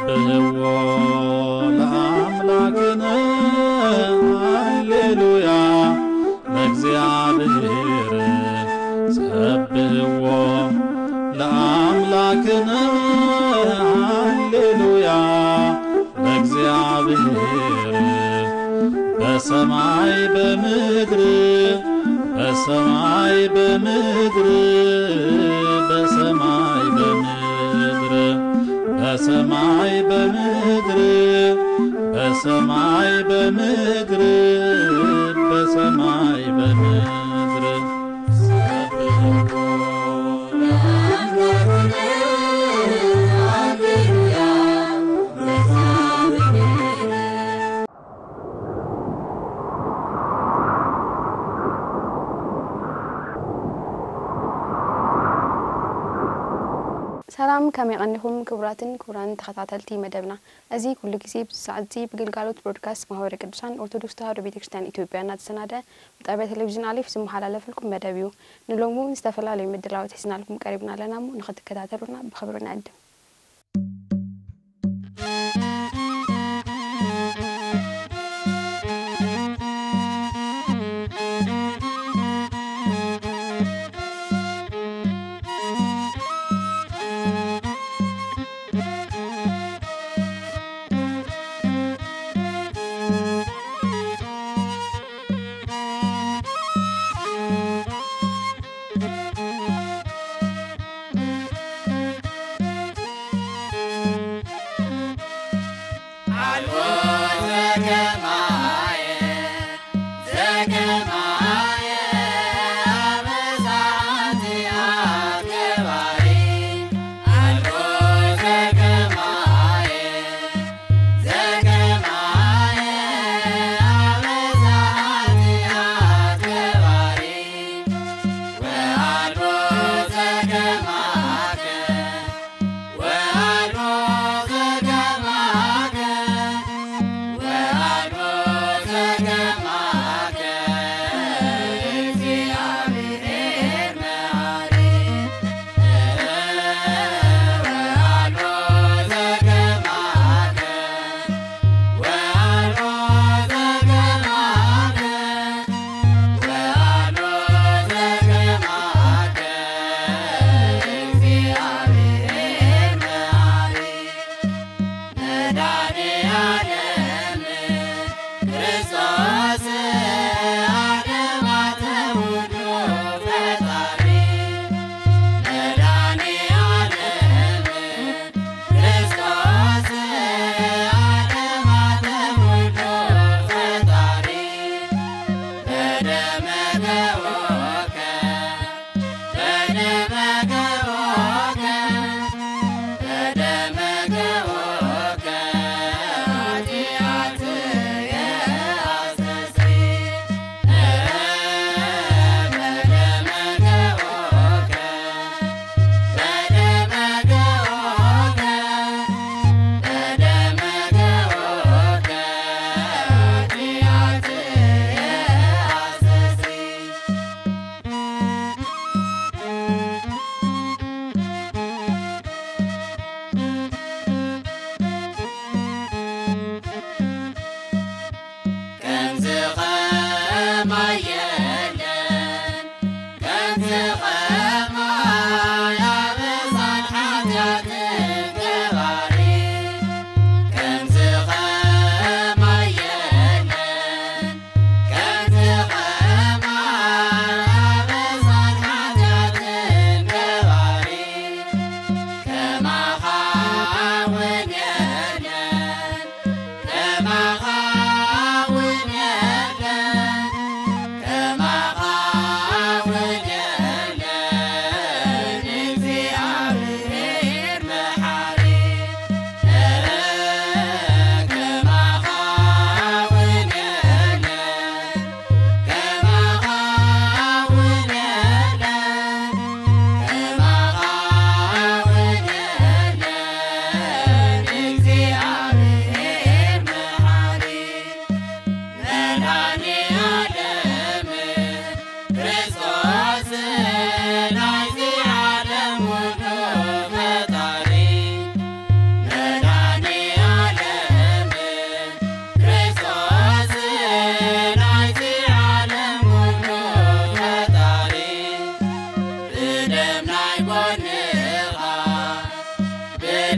ሰብሕዎ ለኣምላክነ፣ ሃሌሉያ ለእግዚኣብሔር። ሰብሕዎ ለኣምላክነ፣ ሃሌሉያ ለእግዚኣብሔር። በሰማይ በምድር፣ በሰማይ በምድር፣ በሰማይ በምድር፣ በሰማይ በምድር፣ በሰማይ በምድር፣ በሰማይ በምድር። ሰላም፣ ከመይ ቀኒኹም ክቡራትን ክቡራን ተኸታተልቲ መደብና? እዚ ኩሉ ግዜ ብዚ ሰዓት እዚ ብግልጋሎት ብሮድካስት ማህበረ ቅዱሳን ኦርቶዶክስ ተዋህዶ ቤተ ክርስቲያን ኢትዮጵያ እናተሰናደ ብጣብያ ቴሌቪዥን ኣሌፍ ዝመሓላለፈልኩም መደብ እዩ። ንሎሚ እውን ዝተፈላለዩ ምድላዋት ሒዝናልኩም ቀሪብና ኣለና እሞ ንኽትከታተሉና ብኽብሪ ንዕድም።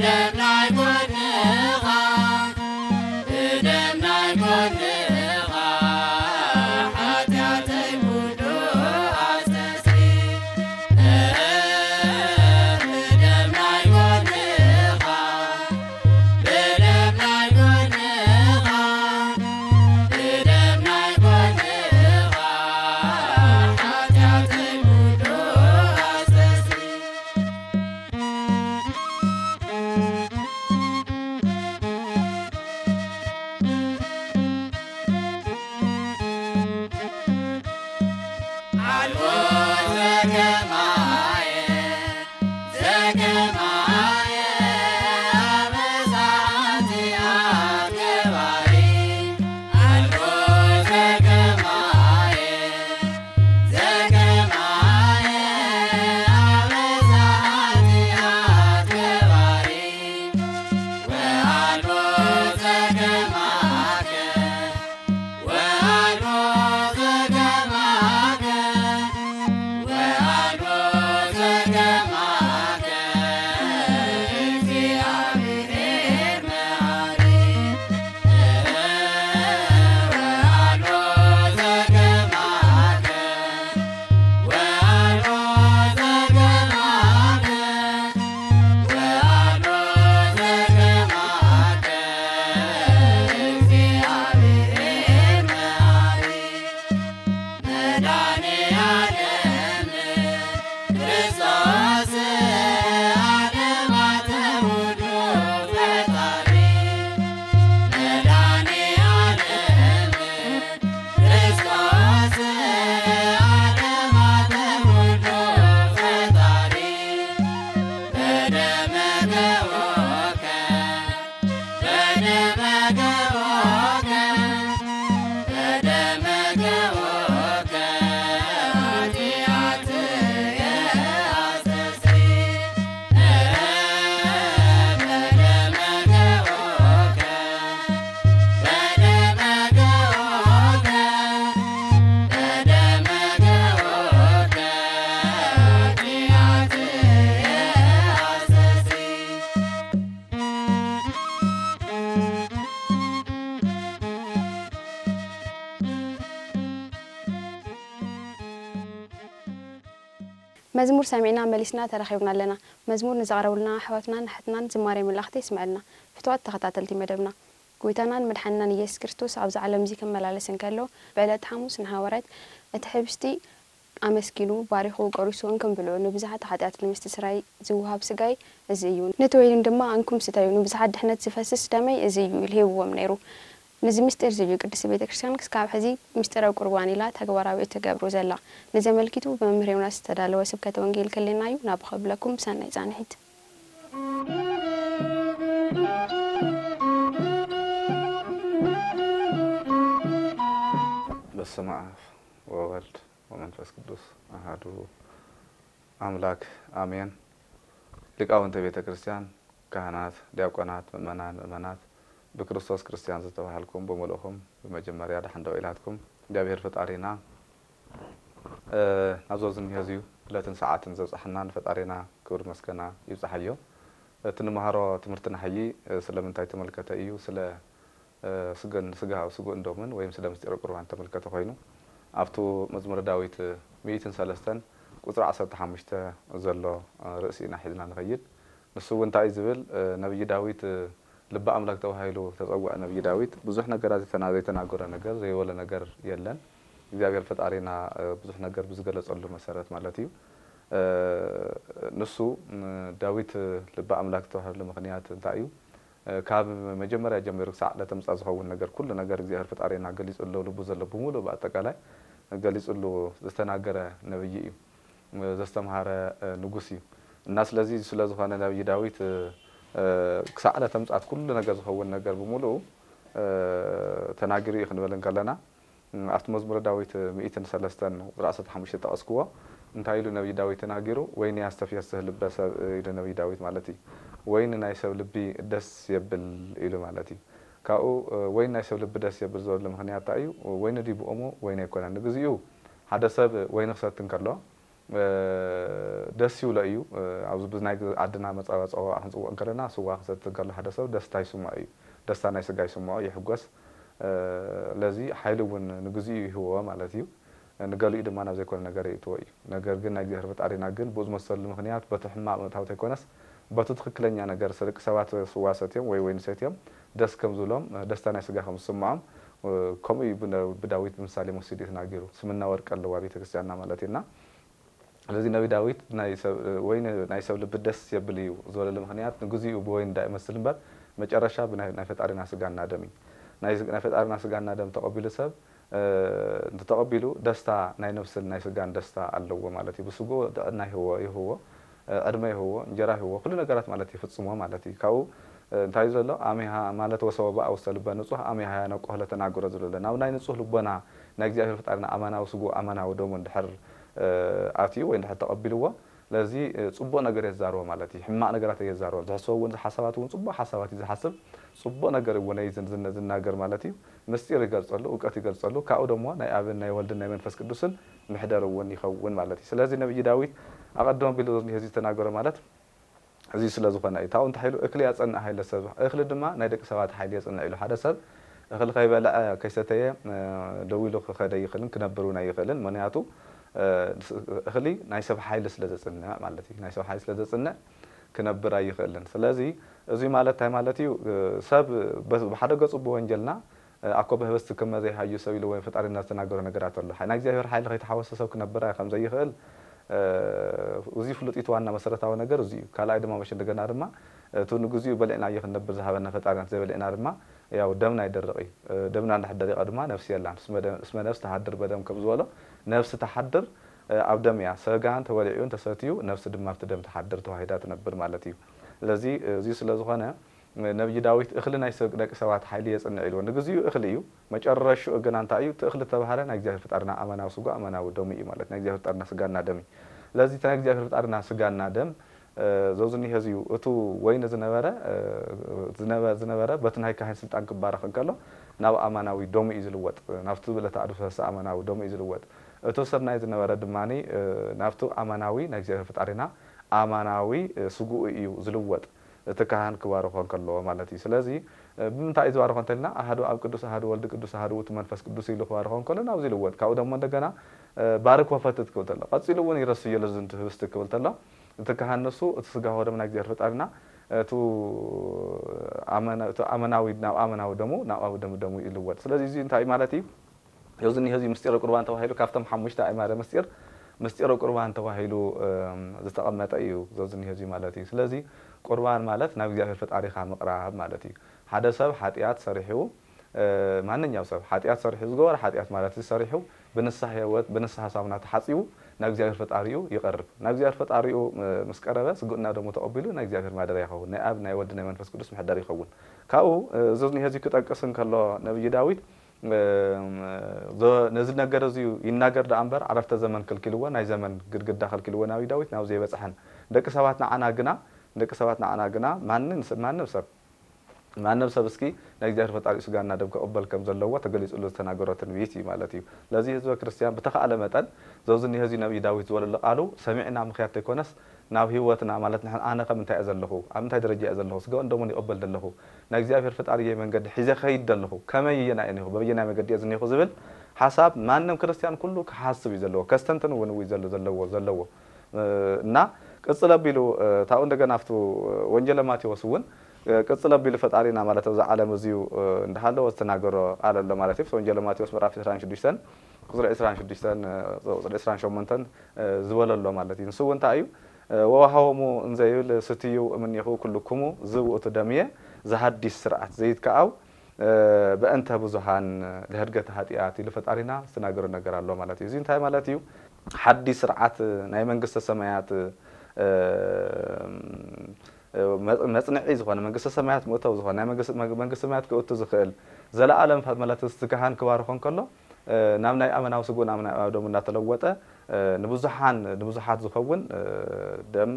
ደም ናይ ጎንኻ፣ ብደም ናይ ጎንኻ፣ ሓጢኣተይ ኩሉ ኣስተስሪ። ብደም ናይ ጎንኻ፣ ብደም ናይ ጎንኻ፣ ብደም ናይ ጎንኻ፣ ሓጢኣተይ ኩሉ ኣስተስሪ። ኣልቦ ዘገማየ፣ ዘገማየ፣ ኣበሳ ኃጢኣት ገባሪ። ኣልቦ ዘገማየ፣ ዘገማየ፣ ኣበሳ ኃጢኣት ገባሪ። ወኣልቦ ዘገማከ፣ ወአልቦ ዘገማከ፣ ወአልቦ ዘገማከ፣ እግዚአብሔር መሐሪ። ወአልቦ ዘገማከ፣ ወአልቦ ዘገማከ፣ ወአልቦ ዘገማከ፣ እግዚአብሔር መሐሪ። መድኃኔ ዓለም ክርስቶስ ዓለማተ ሁሉ ፈጣሪ። መድኃኔ ዓለም ክርስቶስ ዓለማተ ሁሉ ፈጣሪ። በደመ ገቦከ፣ በደመ ገቦከ፣ በደመ ገቦከ፣ ኃጢአትየ አስተስሪ። በደመ ገቦከ፣ በደመ ገቦከ፣ በደመ ገቦከ፣ ኃጢአትየ አስተስሪ። መዝሙር ሰሚዕና መሊስና ተራኺብና ኣለና። መዝሙር ንዘቕረቡልና ኣሕዋትናን ኣሓትናን ዝማሬ መላእኽቲ የስምዐልና። ፍቱዋት ተኸታተልቲ መደብና፣ ጎይታናን መድሓንናን ኢየሱስ ክርስቶስ ኣብዚ ዓለም እዚ ክመላለስ እንከሎ፣ ብዕለተ ሓሙስ ንሃዋርያት እቲ ሕብስቲ ኣመስጊኑ፣ ባሪኹ፣ ቆሪሱ፣ እንክም ብልዑ፣ ንብዙሓት ሓጢኣት ንምስትስራይ ዝወሃብ ስጋይ እዚ እዩ። ነቲ ወይን ድማ እንኩም ስተዩ፣ ንብዙሓት ድሕነት ዝፈስስ ደመይ እዚ እዩ ኢሉ ሂብዎም ነይሩ። ነዚ ምስጢር እዚ እዩ ቅድስቲ ቤተ ክርስቲያን ክስካብ ሕዚ ምስጢረ ቁርባን ኢላ ተግባራዊ እትገብሮ ዘላ። ነዚ ኣመልኪቱ ብመምህር ዮናስ ዝተዳለወ ስብከተ ወንጌል ክህልየና እዩ። ናብ ከብለኩም ብሰናይ ጻንሒት። በስመ አብ ወወልድ ወመንፈስ ቅዱስ አሐዱ አምላክ አሜን። ሊቃውንተ ቤተ ክርስቲያን፣ ካህናት፣ ዲያቆናት፣ ምእመናን፣ ምእመናት፣ ብክርስቶስ ክርስቲያን ዝተባሃልኩም ብምልእኹም ብመጀመርያ ደሓን ደው ኢላትኩም። እግዚኣብሔር ፈጣሪና፣ እ፣ ናብዚ ኣብዚ እኒሆ እዚዩ ዕለትን ሰዓትን ዘብጽሐና ንፈጣሪና ክብሪ መስገና ይብጽሓዮ። እቲ ንመሃሮ ትምህርቲ ናሕዪ፣ እ፣ ስለምንታይ ተመልከተ እዩ? ስለ፣ እ፣ ስገን-፣ ስጋ-፣ ስጉእን ደሙን ወይም ስለ ምስጢረ ቁርባን ተመልከተ ኮይኑ፣ ኣብቱ መዝሙረ ዳዊት ሚእትን ሰለስተን ቁጽሪ ዓሰርተ ሓሙሽተ ዘሎ፣ እ፣ ርእሲ ኢና ሒዝና ንኸይድ። ንሱ እውን እንታይ እዩ ዝብል? እ፣ ነቢይ ዳዊት፣ እ፣ ልበ ኣምላክ ተባሂሉ ተጸውዐ። ነቢይ ዳዊት ብዙሕ ነገራት ዘይተና-፣ ዘይተናገሮ ነገር፣ ዘይበሎ ነገር የለን። እግዚኣብሔር ፈጣሪና፣ እ፣ ብዙሕ ነገር ብዝገለጸሉ መሰረት ማለት እዩ። እ፣ ንሱ፣ ም፣ ዳዊት ልበ ኣምላክ ዝተባህለሉ ምኽንያት እንታይ እዩ? እ፣ ካብ መጀመርያ ጀሚሩ ክሳዕ ዕለተ ምጽኣት ዝኸውን ነገር፣ ኩሉ ነገር እግዚኣብሔር ፈጣሪና ገሊጹሉ፣ ልቡ ዘሎ ብምሉእ ብኣጠቃላይ ገሊጹሉ ዝተናገረ ነብይ እዩ። እ፣ ዘስተምሃረ፣ እ፣ ንጉስ እዩ። እና ስለዚ ስለ ዝኾነ ነብይ ዳዊት፣ እ፣ እ፣ ክሳዕ ዕለተ ምጽኣት ኩሉ ነገር ዝኸውን ነገር ብምሉኡ፣ እ፣ ተናጊሩ እዩ ክንብል እንከለና፣ እ፣ ኣብቲ መዝሙረ ዳዊት ሚእትን ሰለስተን ቁጽሪ ዓሰርተ ሓሙሽተ ጠቐስክዎ፣ እንታይ ኢሉ ነብይ ዳዊት ተናጊሩ? "ወይኒ ያስተፍስህ ልበ ሰብ" ኢሉ ነብይ ዳዊት ማለት እዩ። ወይኒ ናይ ሰብ ልቢ ደስ የብል ኢሉ ማለት እዩ። ካብኡ፣ እ፣ "ወይኒ ናይ ሰብ ልቢ ደስ የብል" ዝበሉ ምኽንያት እንታይ እዩ? ወይኒ ድዩ ብኦሙ? ወይኒ ኣይኮነን። ንግዚኡ ሓደ ሰብ ወይኒ ክሰቲ እንከሎ፣ ደስ ይብሎ እዩ። ኣብዚ ብናይ ዓድና መፃባፀዋ ክንፅውዕ እንከለና፣ ስዋ ክሰቲ እንከሎ ሓደ ሰብ ደስታ ይስምዖ እዩ። ደስታ ናይ ስጋ ይስምዖ፣ ይሕጎስ። ለዚ ሓይሊ እውን ንግዚኡ ይህዎ ማለት እዩ። ንገሊኡ ድማ ናብ ዘይኮነ ነገር የእትዎ እዩ። ነገር ግን ናይ እግዚኣብሔር ፈጣሪና ግን ብኡ ዝመሰሉ ምክንያት በቲ ሕማቕ ምእታው ተይኮነስ፣ በቲ ትኽክለኛ ነገር፣ ደቂ ሰባት ስዋ ሰትዮም ወይ ወይኒ ሰትዮም ደስ ከም ዝብሎም፣ ደስታ ናይ ስጋ ከም ዝስምዖም፣ ከምኡ እዩ ብነ-፣ ብዳዊት ብምሳሌ መሲሉ እዩ ተናጊሩ። ስምና ወርቂ ኣለዋ ቤተክርስቲያንና ማለት እዩና። ስለዚ ነቢ ዳዊት ናይ ሰብ፣ ወይኒ ናይ ሰብ ልቢ ደስ የብል እዩ ዝበለሉ ምክንያት፣ ንግዚኡ ብወይኒ እንዳ ይመስል እምበር፣ መጨረሻ ብናይ፣ ናይ ፈጣሪና ስጋና ደም እዩ። ናይ፣ ናይ ፈጣሪና ስጋና ደም ተቐቢሉ ሰብ፣ እ፣ እንተተቐቢሉ ደስታ ናይ ነፍስን ናይ ስጋን ደስታ ኣለዎ ማለት እዩ። ብስጉኡ ጥዕና ይህዎ፣ ይህዎ፣ እ፣ ዕድመ ይህዎ፣ እንጀራ ይህዎ፣ ኩሉ ነገራት ማለት ይፍጽሞ ማለት እዩ። ካብኡ፣ እ፣ እንታይ ዘሎ? ኣሚሃ ማለት ወሰወ በኣ ውስተ ልበ ንጹህ ኣሚሃ ያነቆ ለተናግሮ ዝብሎ ኣሎ። ናብ ናይ ንጹህ ልቦና ናይ እግዚኣብሔር ፈጣሪና ኣማናዊ ስጉኡ ኣማናዊ ደሙ እንድሕር፣ እ፣ ኣትዩ ወይ እንድሕር ተቐቢልዎ፣ ስለዚ፣ እ፣ ጽቡቕ ነገር እየ ዝዛረቦ ማለት እዩ። ሕማቕ ነገራት እየ ዝዛረቦ። ዝሕሰቦ እውን፣ ዝሓሳባት እውን ጽቡቕ ሓሳባት እዩ ዝሓስብ። ጽቡቕ ነገር እውን እዩ ዝን-፣ ዝን-፣ ዝናገር ማለት እዩ። ምስጢር ይገልጸሉ፣ እውቀት ይገልጸሉ። ካብኡ ደሞ ናይ ኣብን ናይ ወልድን ናይ መንፈስ ቅዱስን ምሕደር እውን ይኸውን ማለት እዩ። ስለዚ ነቢይ ዳዊት ኣቐድሞ ቢሉ ነዚ ዝተናገሮ ማለት እዚ ስለ ዝኾነ እዩ። ታው እንታይ ኢሉ? "እክሊ ያጸንዕ ኃይለ ሰብ፣ እኽሊ ድማ ናይ ደቂ ሰባት ሓይሊ የጽንዕ" ኢሉ። ሓደ ሰብ እኽሊ ከይበልዐ ከይሰተየ፣ እ፣ ደው ኢሉ ክኸደ ይኽእልን ክነብር እውን ኣይኽእልን። ምኽንያቱ፣ እ፣ እኽሊ ናይ ሰብ ሓይሊ ስለ ዘጽንዕ ማለት እዩ። ናይ ሰብ ሓይሊ ስለ ዘጽንዕ ክነብር ኣይኽእልን። ስለዚ እዚ ማለት እንታይ ማለት እዩ? እ፣ ሰብ በ-፣ ብሓደ ገጹ ብወንጀልና፣ እ፣ "ኣኮ በህብስት ክመ ዘይሃዩ ሰብ" ኢሉ ወይ ፈጣሪና ዝተናገሮ ነገራት ኣሎ። ሓይ-፣ ናይ እግዚኣብሔር ሓይሊ ከይተሓወሰ ሰብ ክነብር ኣይ-፣ ከም ዘይኽእል፣ እ፣ እዚ ፍሉጥ እዩ። እቲ ዋና መሰረታዊ ነገር እዚ እዩ። ካልኣይ ድማ መሸ እንደገና ድማ እቲ ንግዚኡ በሊዕናዮ ክንነብር ዝሃበና ፈጣሪና፣ ዘይበሊዕና ድማ ያው ደምና ይደርቕ እዩ። እ፣ ደምና እንድሕር ደሪቐ ድማ ነፍሲ የላን። እስመ ደ-፣ እስመ ነፍስ ተሃድር በደም ከም ዝበሎ፣ ነፍሲ ተሓድር፣ እ፣ ኣብ ደም እያ። ስጋ እንተበሊዑ እንተሰትዩ፣ ነፍሲ ድማ ኣብቲ ደም ትሓድር፣ ተዋሂዳ ትነብር ማለት እዩ። ስለዚ፣ እዚ ስለ ዝኾነ፣ ነቢይ ዳዊት "እኽሊ ናይ ሰብ-፣ ደቂ ሰባት ሓይሊ የጽንዕ" ኢልዎ። ንግዚኡ እኽሊ እዩ፣ መጨረሽኡ ግና እንታይ እዩ? እቲ እኽሊ ዝተባህለ ናይ እግዚኣብሔር ፈጣሪና ኣማናዊ ስጋ፣ ኣማናዊ ደሙ እዩ ማለት፣ ናይ እግዚኣብሔር ፈጣሪና ስጋና ደም እዩ። ስለዚ እቲ ናይ እግዚኣብሔር ፈጣሪና ስጋና ደም፣ እ፣ ዘውዚ እኒሄ እዚ እዩ። እቱ ወይኒ ዝነበረ፣ እ፣ ዝነበ-፣ ዝነበረ በቲ ናይ ካህን ስልጣን ክባረኽ እንከሎ ናብ ኣማናዊ ደሙ እዩ ዝልወጥ፣ ናብቲ ብለተ ኣድፈሰ ኣማናዊ ደሙ እዩ ዝልወጥ። እቱ ስርናይ ዝነበረ ድማኒ፣ እ፣ ናብቲ ኣማናዊ ናይ እግዚኣብሔር ፈጣሪና ኣማናዊ፣ እ፣ ስግኡ እዩ ዝልወጥ፣ እቲ ካህን ክባርኾ እንከሎ ማለት እዩ። ስለዚ፣ እ፣ ብምንታይ እዩ ዝባርኾ እንተልና፣ ኣሃዱ ኣብ ቅዱስ፣ ኣሃዱ ወልድ ቅዱስ፣ ኣሃዱ ውእቱ መንፈስ ቅዱስ ኢሉ ክባርኾ እንከሎ ናብዚ ይልወጥ። ካብኡ ደሞ እንደገና፣ እ፣ "ባርክ ወፈትት" ክብል ተሎ፣ ቀጺሉ እውን "ይረስዮ ለዝንቱ ህብስት" ክብል ተሎ፣ እቲ ካህን ንሱ እቲ ስጋ ወደም ናይ እግዚኣብሔር ፈጣሪና፣ እቱ ኣመና-፣ እቲ ኣመናዊ ናብ ኣመናዊ ደሙ፣ ናብ ኣዊ ደሙ ደሙ ይልወጥ። ስለዚ እዚ እንታይ ማለት እዩ? እዚ እኒሆ እዚ ምስጢረ ቁርባን ተባሂሉ ካብቶም ሓሙሽተ ኣእማደ ምስጢር፣ ምስጢረ ቁርባን ተባሂሉ፣ እም፣ ዝተቐመጠ እዩ። እዚ እኒሆ እዚ ማለት እዩ። ስለዚ ቁርባን ማለት ናብ እግዚኣብሔር ፈጣሪኻ ምቕራብ ማለት እዩ። ሓደ ሰብ ሓጢኣት ሰሪሑ፣ እ፣ ማንኛው ሰብ ሓጢኣት ሰሪሑ፣ ዝገበረ ሓጢኣት ማለት እዚ ሰሪሑ ብንስሓ ህይወት፣ ብንስሓ ሳሙና ተሓጺቡ ናብ እግዚኣብሔር ፈጣሪኡ ይቐርብ። ናብ እግዚኣብሔር ፈጣሪኡ፣ እ፣ ምስ ቀረበ ስግኡና ደሙ ተቐቢሉ ናይ እግዚኣብሔር ማደርያ ይኸውን። ናይ ኣብ፣ ናይ ወልድ፣ ናይ መንፈስ ቅዱስ መሕደሪ ይኸውን። ካብኡ፣ እ፣ እዚ እኒሆ እዚ ክጠቅስ እንከሎ ነቢይ ዳዊት፣ እ፣ ዞ-፣ ነዚ ነገር እዚ ይናገር ደኣ እምበር ዓረፍተ ዘመን ክልኪልዎ፣ ናይ ዘመን ግድግዳ ከልኪልዎ ነቢይ ዳዊት ናብዚ ኣይበጽሐን። ደቂ ሰባት ንዓና ግና፣ ደቂ ሰባት ንዓና ግና ማንም ስ-፣ ማንም ሰብ፣ ማንም ሰብ እስኪ ናይ እግዚኣብሔር ፈጣሪኡ ስጋና ደም ክቕበል ከም ዘለዎ ተገሊጹሉ ዝተናገሮ ትንቢት እዩ ማለት እዩ። ለዚ ህዝበ ክርስቲያን ብተኻእለ መጠን ዘውዚ እኒሆ እዚ ነቢይ ዳዊት ዝበለሉ ቃሉ ሰሚዕና ምኽያድ ተይኮነስ ናብ ህይወትና ማለት ንሕና ኣነ ከም እንታይ እየ ዘለኹ፣ ኣብ እንታይ ደረጃ እየ ዘለኹ፣ ስጋኡን ደሙን ይቕበል ዘለኹ፣ ናይ እግዚኣብሔር ፈጣሪየይ መንገዲ ሒዘ ከይድ ዘለኹ፣ ከመይ እየ ናየ እኒኹ፣ በበየናይ መገዲ እየ ዝኒኹ ዝብል ሓሳብ ማንም ክርስቲያን ኩሉ ክሓስብ እዩ ዘለዎ፣ ከስተንትን እውን እዩ ዘሎ፣ ዘለዎ፣ ዘለዎ። እ፣ እና ቅጽል ኣቢሉ፣ እ፣ ታኡ እንደገና ኣብቲ ወንጌለ ማቴዎስ እውን፣ እ፣ ቅጽል ኣቢሉ ፈጣሪና ማለት ኣብዚ ዓለም እዚዩ፣ እ፣ እንዳሃለወ ዝተናገሮ ቃል ኣሎ ማለት እዩ። ወንጌለ ማቴዎስ ምዕራፍ ዕስራን ሽዱሽተን ቁጽሪ ዕስራን ሽዱሽተን፣ እ፣ ቁጽሪ ዕስራን ሸሞንተን፣ እ፣ ዝበሎ ኣሎ ማለት እዩ። ንሱ እውን እንታይ እዩ? እ፣ "ወወሃቦሙ እንዘ ይብል ስትዩ እምኔሁ ኩልኩሙ ዝውእቱ ደምየ ዘሃዲስ ስርዓት ዘይትከኣው፣ እ፣ በእንተ ብዙሃን ለህድገተ ኃጢኣት" ኢሉ ፈጣሪና ዝተናገሮ ነገር ኣሎ ማለት እዩ። እዚ እንታይ ማለት እዩ? ሓዲስ ስርዓት ናይ መንግስተ ሰማያት፣ እ፣ መጽ-፣ መጽንዒ ዝኾነ፣ መንግስተ ሰማያት መእተዊ ዝኾነ፣ ናይ መንግስ-፣ መግ-፣ መንግስተ ሰማያት ክእቱ ዝኽእል፣ ዘለኣለም ፈ-፣ ማለት እቲ ካህን ክባርኾ እንከሎ፣ እ፣ ናብ ናይ ኣመናዊ ስግኡ፣ ናብ ናይ ኣመናዊ ደሙ እናተለወጠ፣ እ፣ ንብዙሓን፣ ንብዙሓት ዝኸውን፣ እ፣ ደም፣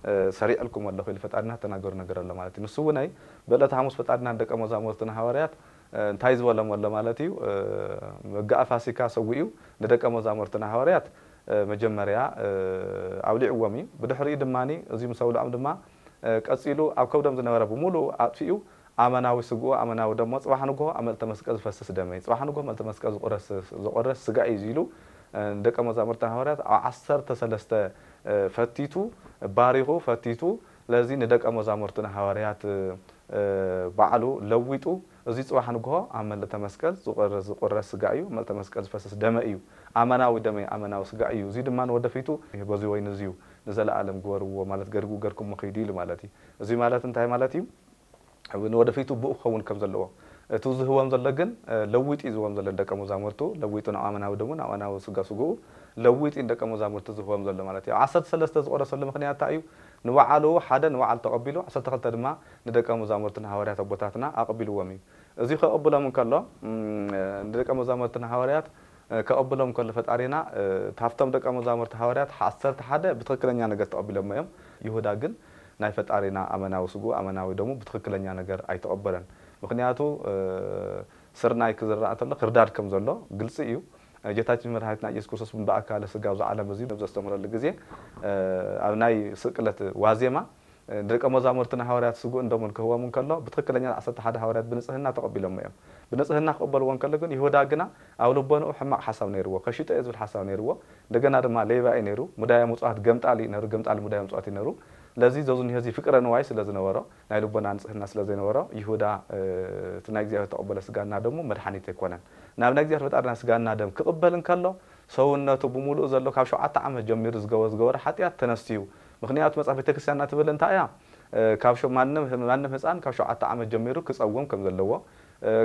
እ፣ ሰሪዐልኩም ኣለኹ ኢሉ ፈጣሪና ተናገሩ ነገር ኣሎ ማለት እዩ። ንሱ እውን ኣይ፣ ብዕለተ ሓሙስ ፈጣሪና ንደቀ መዛሙርትን ሃዋርያት፣ እ፣ እንታይ ዝበሎም ኣሎ ማለት እዩ? እ፣ መጋኣ ፋሲካ ሰዊኡ ንደቀ መዛሙርትን ሃዋርያት፣ መጀመርያ ኣብሊዕዎም እዩ። ብድሕሪኡ ድማ እዚ ምስ ኣብልዖም ድማ ቀፂሉ ኣብ ከብዶም ዝነበረ ብምሉኡ ኣጥፊኡ ኣመናዊ ስግኡ ኣመናዊ ደሞ ፅባሕ ንግሆ ኣብ መልዕልተ መስቀል ዝፈስስ ደመይ፣ ፅባሕ ንግሆ መልዕልተ መስቀል ዝቁረስ ዝቁረስ ስጋ እዩ ኢሉ ንደቀ መዛሙርትን ሃዋርያት ኣብ ዓሰርተ ሰለስተ ፈቲቱ ባሪኹ ፈቲቱ። ስለዚ ንደቀ መዛሙርትን ሃዋርያት ባዕሉ ለዊጡ እዚ ፅባሕ ንግሆ ኣብ መልዕልተ መስቀል ዝቁረስ ዝቁረስ ስጋ እዩ፣ መልዕልተ መስቀል ዝፈስስ ደመ እዩ፣ ኣመናዊ ደመይ ኣመናዊ ስጋ እዩ፣ እዚ ድማ ንወደፊቱ በዚ ወይኒ እዚ እዩ ንዘለኣለም ግበርዎ ማለት ገርጉ ገርኩሞ ኺዱ ኢሉ ማለት እዩ። እዚ ማለት እንታይ ማለት እዩ? ንወደፊቱ ብኡ ክኸውን ከም ዘለዎ እቲ ዝህቦም ዘሎ ግን ለዊጡ እዩ ዝህቦም ዘሎ ንደቀ መዛሙርቱ ለዊጡ ናብ ኣመናዊ ደሙ ናብ ኣመናዊ ስጋ ስግኡ ለዊጡ እዩ ንደቀ መዛሙርቱ ዝህቦም ዘሎ ማለት እዩ። ዓሰርተ ሰለስተ ዝቆረሰሉ ምክንያት እንታይ እዩ? ንባዕሉ ሓደ ንባዕሉ ተቐቢሉ ዓሰርተ ክልተ ድማ ንደቀ መዛሙርትን ሃዋርያት ኣቦታትና ኣቐቢልዎም እዩ። እዚ ከቐብሎም እንከሎ ንደቀ መዛሙርትን ሃዋርያት ከቐብሎም ከሎ ፈጣሪና ካብቶም ደቀ መዛሙርቲ ሃዋርያት ዓሰርተ ሓደ ብትኽክለኛ ነገር ተቐቢሎሞ እዮም። ይሁዳ ግን ናይ ፈጣሪና ኣመናዊ ስግኡ ኣመናዊ ደሙ ብትኽክለኛ ነገር ኣይተቐበለን። ምኽንያቱ ስርናይ ክዝራእ እንተሎ ክርዳድ ከም ዘሎ ግልፂ እዩ። ጌታችን መድሓኒትና ኢየሱስ ክርስቶስ ብኣካለ ስጋ ኣብዚ ዓለም እዚ ዘስተምህረሉ ግዜ ኣብ ናይ ስቅለት ዋዜማ ደቀ መዛሙርትን ሃዋርያት ስግኡን ደሙን ክህቦም እንከሎ ብትኽክለኛ ዓሰርተ ሓደ ሃዋርያት ብንፅህና ተቐቢሎሞ እዮም። ብንፅህና ክቕበልዎ እንከሎ ግን ይሁዳ ግና ኣብ ልቦንኡ ሕማቕ ሓሳብ ነይርዎ፣ ከሽጦ እየ ዝብል ሓሳብ ነይርዎ። እንደገና ድማ ሌባ እዩ ነይሩ፣ ሙዳየ ምፅዋት ገምጣል እዩ ነይሩ፣ ገምጣል ሙዳየ ምፅዋት እዩ ነይሩ። ስለዚ ዘዙ ንህዚ ፍቅረ ንዋይ ስለ ዝነበሮ ናይ ልቦና ንፅህና ስለ ዘይነበሮ ይሁዳ እቲ ናይ እግዚኣብሔር ተቐበለ ስጋና ደሙ መድሓኒት ኣይኮነን። ናብ ናይ እግዚኣብሔር ፈጣሪና ስጋና ደም ክቕበል እንከሎ ሰውነቱ ብምሉእ ዘሎ ካብ ሸውዓተ ዓመት ጀሚሩ ዝገበ ዝገበረ ሓጢኣት ተነስቲዩ። ምክንያቱ መጽሓፍ ቤተክርስትያንና ትብል እንታይ እያ? ካብ ማንም ማንም ህፃን ካብ ሸውዓተ ዓመት ጀሚሩ ክፀውም ከም ዘለዎ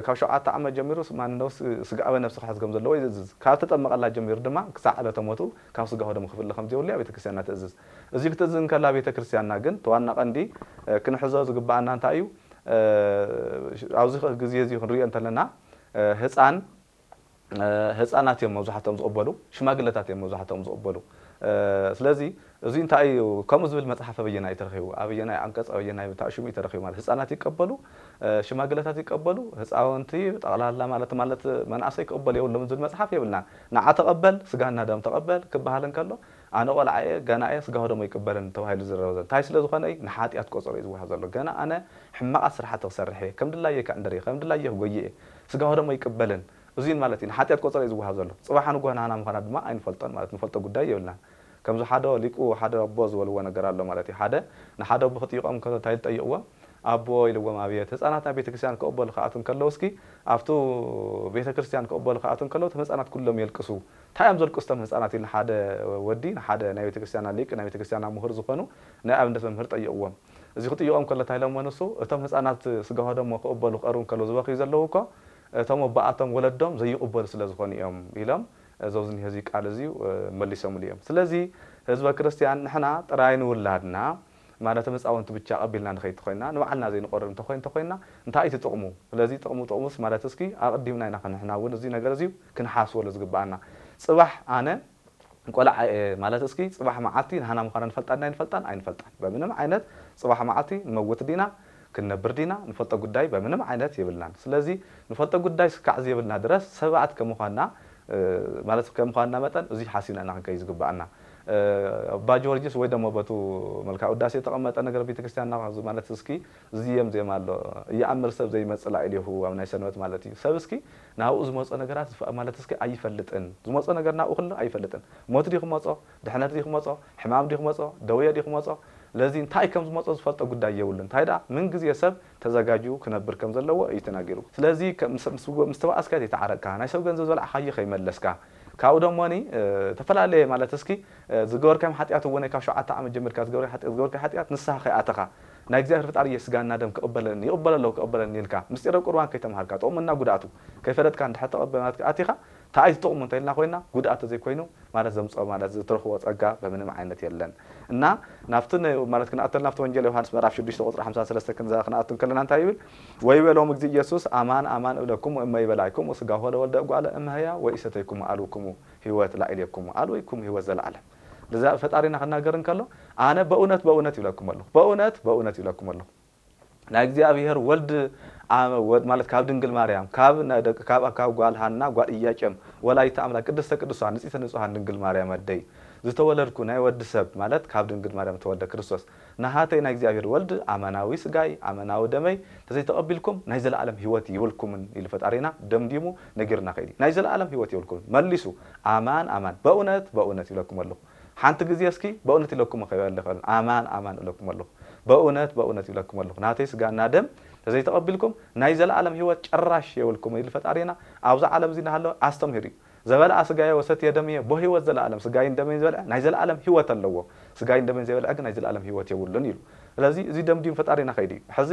ካብ ሸውዓተ ዓመት ጀሚሩ ማንነው ስጋኣዊ ነብሲ ክሕዝ ከም ዘለዎ ይዝዝ ካብ ተጠመቐላ ጀሚሩ ድማ ክሳዕ ዕለተ ሞቱ ካብ ስጋ ወደሙ ክፍለ ከም ዘይብሉ እያ ቤተክርስትያንና ትእዝዝ። እዚ ክትእዝዝ እንከላ ቤተክርስትያንና ግን ተዋና ቀንዲ ክንሕዞ ዝግባኣና እንታይ እዩ? ኣብዚ ግዜ እዚ ክንሪኦ እንተለና ህፃን ህፃናት እዮም መብዛሕትኦም ዝቕበሉ፣ ሽማግለታት እዮም መብዛሕትኦም ዝቕበሉ። ስለዚ እዚ እንታይ እዩ ከምኡ ዝብል መፅሓፍ ኣበየናይ እዩ ተረኺቡ? ኣበየናይ ዓንቀፅ ኣበየናይ ታእሽሙ እዩ ተረኺቡ? ማለት ህፃናት ይቀበሉ፣ ሽማግለታት ይቀበሉ፣ ህፃውንቲ ጠቕላላ ማለት ማለት መናእሰይ ክቕበሉ የብሎም ዝብል መፅሓፍ የብልናን። ንዓ ተቐበል፣ ስጋና ደም ተቐበል ክበሃል እንከሎ ኣነ ቆልዓ እየ፣ ገና እየ፣ ስጋ ወደሞ ይቅበልን ተባሂሉ ዝረበ ዘሎ እንታይ ስለ ዝኾነ እዩ? ንሓጢኣት ቆፀሮ እዩ ዝወሃብ ዘሎ። ገና ኣነ ሕማቓት ስራሓት ክሰርሕ እየ፣ ከም ድላየ ክዕንድር እየ፣ ከም ድላየ ክጎይ እየ፣ ስጋ ወደሞ ይቅበልን እዙይ ማለት እዩ ንሓጢኣት ቆፀሮ እዩ ዝወሃብ ዘሎ። ፅባሕ ንጎ ናህና ምዃና ድማ ኣይንፈልጦን ማለት ንፈልጦ ጉዳይ የብልናን። ከምዚ ሓደ ሊቁ ሓደ ኣቦ ዝበልዎ ነገር ኣሎ ማለት እዩ። ሓደ ንሓደ ኣቦ ክጥይቖም ከሎ እንታይ ዝጠይቕዎ? ኣቦ ኢልዎም ኣብየት ህፃናት ናብ ቤተክርስትያን ክቕበሉ ክኣቱ እንከለዉ እስኪ ኣብቱ ቤተክርስትያን ክቕበሉ ክኣቱ እንከለዉ እቶም ህፃናት ኩሎም የልቅሱ። እንታይ እዮም ዘልቅሱ እቶም ህፃናት ኢሉ ንሓደ ወዲ ንሓደ ናይ ቤተክርስትያና ሊቅ ናይ ቤተክርስትያና ምሁር ዝኾኑ ናይ ኣብነት መምህር ጠይቕዎም። እዚ ክጥይቖም ከሎ እንታይ ኢሎሞ ንሱ እቶም ህፃናት ስጋ ወደሞ ክቕበሉ ክቐርቡ እንከለዉ ዝበኽዩ ዘለዉ እኮ እቶም ኣቦኣቶም ወለዶም ዘይቕበሉ ስለ ዝኾኑ እዮም ኢሎም። እዚ ኣብዚ እኒሀ እዚ ቃል እዚ መሊሶምሉ እዮም። ስለዚ ህዝበ ክርስቲያን ንሕና ጥራይ ንውላድና ማለት ህፃውንቲ ብቻ ቀቢልና ንኸይድ ተኮይና ንባዕልና ዘይንቆርብ እንተኮይን ተኮይና እንታይ እቲ ጥቕሙ? ስለዚ ጥቕሙ ጥቕሙስ ማለት እስኪ ኣቐዲምና ኢና ንሕና እውን እዚ ነገር እዚ ክንሓስበሉ ዝግባኣና። ፅባሕ ኣነ ቆልዓ እየ ማለት እስኪ ፅባሕ መዓልቲ ንሃና ምዃና ንፈልጣ ድና ኣይንፈልጣን? ኣይንፈልጣን። በምንም ዓይነት ፅባሕ መዓልቲ ንመውት ዲና ክንነብር ዲና ንፈልጦ ጉዳይ በምንም ዓይነት የብልናን። ስለዚ ንፈልጦ ጉዳይ ስካዕ ዝየብልና ድረስ ሰባት ከምዃንና ማለት ከምዃንና መጠን እዚ ሓሲብና ኢና ክንከይ ዝግባኣና። ኣባ ጊዮርጊስ ወይ ደሞ በቱ መልካ ውዳሴ የተቐመጠ ነገር ቤተክርስትያንና ማለት እስኪ ዝየም ዜማ ኣሎ። እየኣምር ሰብ ዘይመጽእ ላዕሌሁ ኣብ ናይ ሰንበት ማለት እዩ። ሰብ እስኪ ናብኡ ዝመጾ ነገራት ማለት እስኪ ኣይፈልጥን። ዝመጾ ነገር ናብኡ ክሎ ኣይፈልጥን። ሞት ዲ ክመጾ፣ ድሕነት ዲ ክመጾ፣ ሕማም ዲ ክመጾ፣ ደውየ ዲ ክመጾ፣ ለዚ እንታይ ከም ዝመጾ ዝፈልጦ ጉዳይ የብሉን። እንታይ ደኣ ምን ግዜ ሰብ ተዘጋጅዩ ክነብር ከም ዘለዎ እዩ ተናጊሩ። ስለዚ ምስ ተባኣስካ ዘይተዓረቅካ፣ ናይ ሰብ ገንዘብ ዝበላዕካዮ ከይመለስካ፣ ካብኡ ደሞኒ ዝተፈላለየ ማለት እስኪ ዝገበርካዮም ሓጢኣት እውን ካብ ሸውዓተ ዓመት ጀሚርካ ዝገበርካዮ ሓጢኣት ንስኻ ከይኣተኻ ናይ እግዚኣብሔር ፈጣሪ እየ ስጋና ደም ክቕበለኒ ይቕበለ ኣለኹ ክቕበለኒ ኢልካ ምስጢረ ቁርባን ከይተምሃርካ ጥቕሙና ጉድኣቱ ከይፈለጥካ እንድሕር ተቐበልናት ኣቲኻ እንታይ እዩ ጥቕሙ እንተኢልና ኮይና ጉድኣት ተዘይኮይኑ ማለት ዘምፅኦ ማለት ዝትረኽቦ ፀጋ በምንም ዓይነት የለን። እና ናብቲ ማለት ክንኣተል ናብቲ ወንጌል ዮሃንስ ምዕራፍ ሽዱሽተ ቁፅሪ ሓምሳ ሰለስተ ክንኣቱ እንከለና እንታይ ይብል? ወይቤሎም እግዚእ ኢየሱስ ኣማን ኣማን እብለኩም እመ ይበላይኩም ስጋሁ ለወልደ እጓለ እመህያ ወኢሰተይኩም ኣልውኩሙ ህይወት ላዕሌኩም ኣልወይኩም ህይወት ዘለዓለም። እዛ ፈጣሪና ክናገር እንከሎ ኣነ በእውነት በእውነት ይብለኩም ኣለኹ በእውነት በእውነት ይብለኩም ኣለኹ ናይ እግዚኣብሔር ወልድ ኣመ ወድ ማለት ካብ ድንግል ማርያም፣ ካብ ናይ ደቂ፣ ካብ፣ ካብ ጓል ሃና፣ ጓል ኢያቄም፣ ወላዲተ ኣምላክ፣ ቅድስተ ቅዱሳን፣ ንጽሕተ ንጹሃን ድንግል ማርያም ኣደይ፣ ዝተወለድኩ ናይ ወዲ ሰብ ማለት ካብ ድንግል ማርያም ተወልደ ክርስቶስ፣ ናሃተይ ናይ እግዚኣብሔር ወልድ ኣማናዊ ስጋይ፣ ኣማናዊ ደመይ፣ ተዘይተቐቢልኩም ናይ ዘለኣለም ህይወት የብልኩምን ኢሉ ፈጣሪና ደምዲሙ ነጊርና ከይዲ። ናይ ዘለኣለም ህይወት የብልኩምን። መሊሱ፣ ኣማን፣ ኣማን፣ በእውነት፣ በእውነት ይብለኩም ኣለኹ። ሓንቲ ግዜ እስኪ በእውነት ኢለኩም ከይበል ይኽእል። ኣማን፣ ኣማን እብለኩም ኣለኹ። በእውነት፣ በእውነት ይብለኩም ኣለኹ። ናተይ ስጋና ደም ተዘይተቐቢልኩም ናይ ዘለኣለም ህይወት ጭራሽ የብልኩም ኢሉ ፈጣሪና ኣብዚ ዓለም እዚ እናሃለወ ኣስተምሂሩ እዩ። ዘበልዓ ስጋየ ወሰትየ ደምየ ቦህይወት ዘለኣለም፣ ስጋይን ደመይን ዝበልዐ ናይ ዘለኣለም ህይወት ኣለዎ። ስጋይን ደመይን ዘይበልዐ ግን ናይ ዘለኣለም ህይወት የብሉን ኢሉ። ስለዚ እዚ ደምዲም ፈጣሪና ከይዱ እዩ። ሕዚ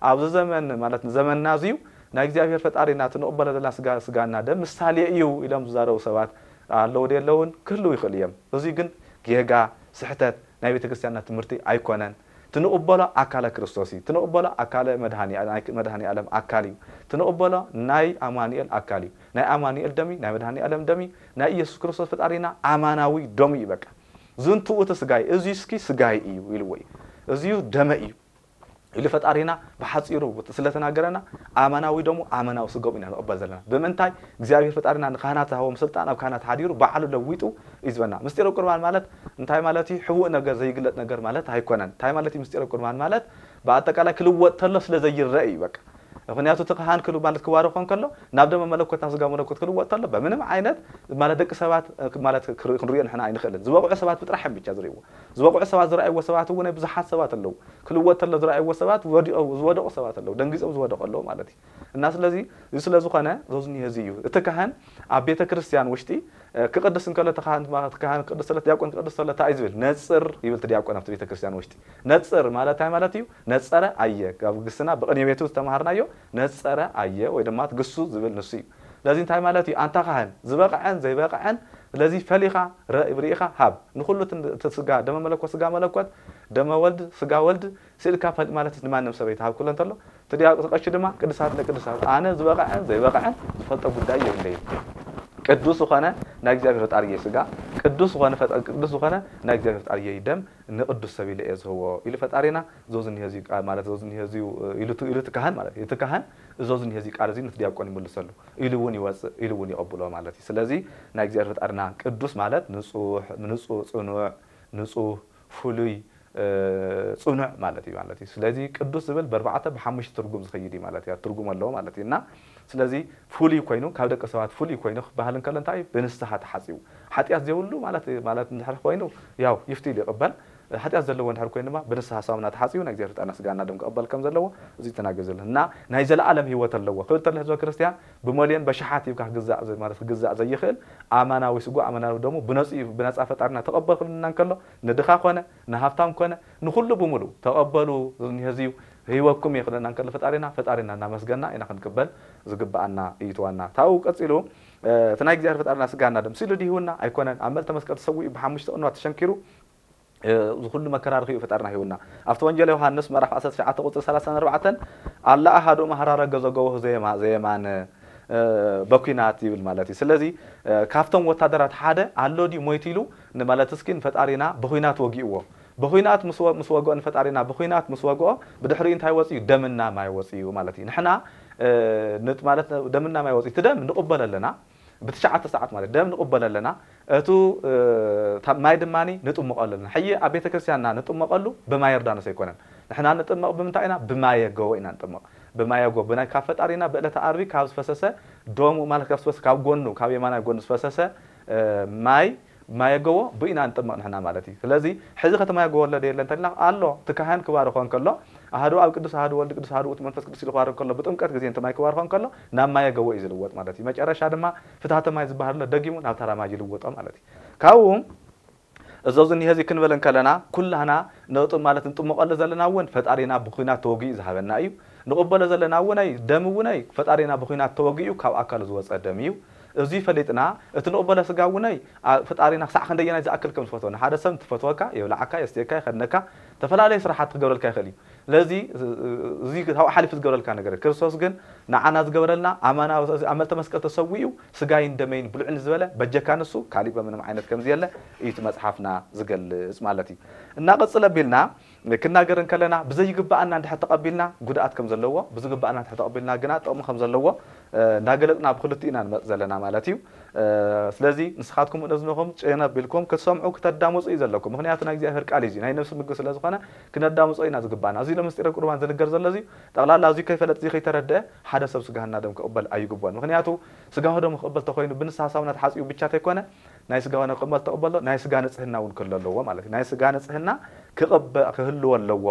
ኣብዚ ዘመን ማለት ዘመንና እዚ እዩ ናይ እግዚኣብሔር ፈጣሪና እቲ ንቕበሎ ዘለና ስጋ፣ ስጋና ደም ምሳሌ እዩ ኢሎም ዝዛረቡ ሰባት ኣለዉ ዶ የለውን? ክህልዉ ይኽእሉ እዮም። እዚ ግን ጌጋ፣ ስሕተት ናይ ቤተ ክርስቲያንና ትምህርቲ ኣይኮነን። ትንቕበሎ ኣካለ ክርስቶስ እዩ። ትንቕበሎ ኣካለ መድሃኒ፣ ናይ መድሃኒ ዓለም ኣካል እዩ። ትንቕበሎ ናይ ኣማኑኤል ኣካል እዩ። ናይ ኣማኑኤል ደም እዩ፣ ናይ መድሃኒ ዓለም ደም እዩ፣ ናይ ኢየሱስ ክርስቶስ ፈጣሪና ኣማናዊ ደሙ እዩ። በቃ ዝንትኡ እቲ ስጋይ፣ እዚ እስኪ ስጋይ እዩ ኢልዎ እዩ። እዚ እዩ ደመ እዩ ኢሉ ፈጣሪና ብሓጺሩ ስለተናገረና ኣማናዊ ደሙ ኣማናዊ ስጋኡ ኢና ንቕበል ዘለና። ብምንታይ? እግዚኣብሔር ፈጣሪና ንካህናት ዝሃቦም ስልጣን ኣብ ካህናት ሓዲሩ ባዕሉ ለዊጡ እዩ ዝበና። ምስጢረ ቁርባን ማለት እንታይ ማለት እዩ? ሕቡእ ነገር፣ ዘይግለጥ ነገር ማለት ኣይኮነን። እንታይ ማለት እዩ ምስጢረ ቁርባን ማለት? ብኣጠቃላይ ክልወጥ ተሎ ስለ ዘይረአ እዩ በቃ። ምኽንያቱ እቲ ካህን ክል-፣ ማለት ክባርኾ እንከሎ ናብ ደመ መለኮት ናብ ስጋ መለኮት ክልወጥ ተሎ በምንም ዓይነት ማለት ደቂ ሰባት ማለት ክር-፣ ክንሪኦ ንሕና ኣይንኽእልን። ዝበቕዑ ሰባት ብጥራሕም ብቻ ዝርእይዎ። ዝበቕዑ ሰባት ዝረኣይዎ ሰባት እውን ብዙሓት ሰባት ኣለዉ። ክልወጥ ተሎ ዝረኣይዎ ሰባት ወዲቖ-፣ ዝወደቑ ሰባት ኣለዉ። ደንጊጾም ዝወደቑ ኣለዉ ማለት እዩ። እና ስለዚ እዚ ስለ ዝኾነ እዚ እኒሀ እዚ እዩ። እቲ ካህን ኣብ ቤተ ክርስቲያን ውሽጢ እ፣ ክቕድስ እንከሎ እቲ ካህን፣ እቲ ካህን ክቕድስ ተሎ፣ ዲያቆን ክቕድስ ተሎ እንታይ እዩ ዝብል? ነጽር ይብል እቲ ዲያቆን ኣብቲ ቤተ ክርስቲያን ውሽጢ። ነጽር ማለት እንታይ ማለት እዩ? ነጸረ ኣየ። ኣብ ግስና ብቕኔ ቤቱ ዝተማሃርናዮ ነጸረ ኣየ ወይ ድማ ግሱ ዝብል ንሱ እዩ። ስለዚ እንታይ ማለት እዩ? ኣንታ ካህን ዝበቕዐን ዘይበቕዐን ስለዚ ፈሊኻ ረ-፣ ርኢኻ ሃብ። ንኹሉ እቲ፣ እቲ ስጋ ደመ መለኮት ስጋ መለኮት ደመ ወልድ ስጋ ወልድ ስኢልካ ፈል-፣ ማለት ንማንም ሰብ ኣይትሃብ ክብሎ እንተሎ፣ እቲ ዲያቆን ቀሺ ድማ ቅዱሳት ንቅዱሳት ኣነ ዝበቕዐን ዘይበቕዐን ዝፈልጦ ጉዳይ የብለይን። ቅዱስ ዝኾነ ናይ እግዚኣብሔር ፈጣሪየይ ስጋ፣ ቅዱስ ዝኾነ ፈጣ-፣ ቅዱስ ዝኾነ ናይ እግዚኣብሔር ፈጣሪየይ ደም ንቅዱስ ሰብ ኢለ እየ ዝህቦ ኢሉ ፈጣሪና። ዞዝ እኒሀ እዚዩ ቃል ማለት ዞዝ እኒሀ እዚዩ ኢሉ እቲ፣ ኢሉ እቲ ካህን ማለት እዩ። እቲ ካህን ዞዝ እኒሀ እዚዩ ቃል እዚ ነቲ ዲያቆን ይምልሰሉ። ኢሉ እውን ይወፅእ፣ ኢሉ እውን ይቐብሎ ማለት እዩ። ስለዚ ናይ እግዚኣብሔር ፈጣሪና ቅዱስ ማለት ንጹሕ፣ ንጹህ፣ ጽኑዕ፣ ንጹህ፣ ፍሉይ፣ እ፣ ጽኑዕ ማለት እዩ ማለት እዩ። ስለዚ ቅዱስ ዝብል ብኣርባዕተ ብሓሙሽተ ትርጉም ዝኸይድ እዩ ማለት እዩ። ትርጉም ኣለዎ ማለት እዩ። እና ስለዚ ፍሉይ ኮይኑ፣ ካብ ደቂ ሰባት ፍሉይ ኮይኑ ክበሃል እንከሎ እንታይ እዩ? ብንስሓ ተሓጺቡ። ሓጢኣት ዘይብሉ ማለት፣ ማለት እንድሕር ኮይኑ ያው ይፍትይ ይቕበል። ሓጢኣት ዘለዎ እንድሕር ኮይኑ ድማ ብንስሓ ሳሙና ተሓጺቡ ናይ እግዚኣብሔር ፈጣሪና ስጋና ደም ክቕበል ከም ዘለዎ እዚ ተናገር ዘሎ። እና ናይ ዘለኣለም ህይወት ኣለዎ ክብል ተሎ ህዝበ ክርስቲያን ብመልዮን በሽሓት ሂብካ ክግዛእ ዘ-፣ ማለት ክግዛእ ዘይኽእል ኣማናዊ ስጋ ኣማናዊ ደሙ ብነጹ፣ ብነጻ ፈጣሪና ተቐበል ክብልና እንከሎ ንድኻ ኮነ ንሃብታም ኮነ ንኹሉ ብምሉ ተቐበሉ ዝኒሀ እዚዩ ህይወኩም እየ ክብለና እንከሎ ፈጣሪና፣ ፈጣሪና እናመስገና ኢና ክንቅበል ዝግብኣና እዩ እቲ ዋና። ታብኡ ቀጺሉ፣ እ፣ እቲ ናይ እግዚኣብሔር ፈጣሪና ስጋና ደም ስኢሉ ድዩ ሂቡና? ኣይኮነን። ኣብ መልተ መስቀል ተሰዊኡ ብሓሙሽተ ቅንዋት ተሸንኪሩ፣ እ፣ እዚ ኩሉ መከራ ረኺቡ ፈጣሪና ሂቡና። ኣብቲ ወንጌል ዮሃንስ ምዕራፍ ዓሰርተ ትሽዓተ ቁጽሪ ሰላሳን ኣርባዕተን፣ ኣላ ኣሃዱ መሃራረ ገዘገቦ ዘየማ-፣ ዘየማን፣ እ፣ በኲናት ይብል ማለት እዩ። ስለዚ፣ እ፣ ካብቶም ወታደራት ሓደ ኣሎ ድዩ ሞይቱ ኢሉ ንማለት እስኪ ንፈጣሪና ብኹናት ወጊእዎ። ብኹናት ምስ ወ-፣ ምስ ወግኦ ንፈጣሪና ብኹናት ምስ ወግኦ ብድሕሪኡ እንታይ ወፅዩ? ደምና ማይ ወፅዩ ማለት እዩ። ንሕና፣ እ፣ ንጥ-፣ ማለት ደምና ማይ ወፅዩ። እቲ ደም ንቕበሎ ኣለና። ብትሽዓተ ሰዓት ማለት ደም ንቕበሎ ኣለና። እቱ፣ እ፣ ታ-፣ ማይ ድማኒ ንጥምቐሉ ኣለና። ሕጂ ኣብ ቤተ ክርስቲያንና ንጥመቐሉ ብማየ ዮርዳኖስ ኣይኮነን። ንሕና ንጥመቕ ብምንታይ ኢና? ብማየ ጎቦ ኢና ንጥመቕ። ብማየ ጎቦ ብናይ ካብ ፈጣሪና ብዕለተ ዓርቢ ካብ ዝፈሰሰ ደሙ ማለት ካብ ዝፈሰ፣ ካብ ጎኑ፣ ካብ የማናይ ጎኑ ዝፈሰሰ፣ እ፣ ማይ፣ ማየ ጎቦ ብኢና ንጥመቕ ንሕና ማለት እዩ። ስለዚ ሕዚ ከተማየ ጎቦ ኣሎ ዶ የለን እንተልና ኣሎ። እቲ ካህን ክባርኾ እንከሎ ኣሃዱ ኣብ ቅዱስ፣ ኣሃዱ ወልድ ቅዱስ፣ ኣሃዱ ውእቱ መንፈስ ቅዱስ ኢሉ ክባርኽ ከሎ ብጥምቀት ግዜ እንተ ማይ ክባርኾ እንከሎ ናብ ማየ ጎቦ እዩ ዝልወጥ ማለት እዩ። መጨረሻ ድማ ፍታተ ማይ ዝበሃል ኣሎ ደጊሙ ናብ ታራ ማይ ይልወጦ ማለት እዩ። ካብኡ እዞ ዝኒሀ እዚ ክንብል እንከለና ኩላህና ነጥ-፣ ማለት ንጥምቐሉ ዘለና እውን ፈጣሪና ብኹናት ተወጊኡ ዝሃበና እዩ። ንቕበሎ ዘለና እውነይ ደም እውነይ ፈጣሪና ብኹናት ተወጊኡ ካብ ኣካሉ ዝወፀ ደም እዩ። እዚ ፈሊጥና እቲ ንቕበሎ ስጋ እውነይ ኣ-፣ ፈጣሪና ክሳዕ ክንደየናይ ዝኣክል ከም ዝፈትወ፣ ንሓደ ሰብ እንትፈትወካ የብልዓካ፣ የስትየካ፣ የኸድነካ፣ ዝተፈላለዩ ስራሓት ክገብረልካ ይኽእል እዩ። ስለዚ እዚ ካብኡ ሓሊፉ ዝገበረልካ ነገር የለን። ክርስቶስ ግን ንዓና ዝገበረልና ኣማና ኣብ መልተ መስቀል ተሰዊኡ ስጋይን ደመይን ብልዑ ንዝበለ በጀካ ንሱ ካሊእ በምንም ዓይነት ከምዚ የለ እዩ እቲ መጽሓፍና ዝገልጽ ማለት እዩ። እና ቅጽል ኣቢልና ክናገር እንከለና ብዘይግባኣና እንድሕር ተቐቢልና ጉድኣት ከም ዘለዎ፣ ብዝግባኣና እንድሕር ተቐቢልና ግና ጥቕሚ ከም ዘለዎ እንዳገለጽና ብክልቲኡ ኢና ንመጽእ ዘለና ማለት እዩ። ስለዚ ንስኻትኩም እዝንኹም ጨነብ ኢልኩም ክትሰምዑ ክተዳምፁ እዩ ዘለኩም። ምክንያቱ ናይ እግዚኣብሔር ቃል እዩ፣ ናይ ነፍሲ ምግቢ ስለ ዝኾነ ክነዳምፆ ኢና ዝግባና። እዚ ለምስጢረ ቁርባን ዝንገር ዘሎ እዚ ጠቕላላ እዚ ከይፈለጥ እዚ ከይተረደአ ሓደ ሰብ ስጋህና ደም ክቕበል ኣይግቦን። ምክንያቱ ስጋሁ ደም ክቕበል ተኮይኑ ብንስሓ ሳሙና ተሓፂቡ ብቻ ተይኮነ ናይ ስጋ ሆነ ክቕበል ተቕበሎ ናይ ስጋ ንጽህና እውን ክህሉ ኣለዎ ማለት እዩ። ናይ ስጋ ንጽህና ክቕበ ክህልዎ ኣለዎ።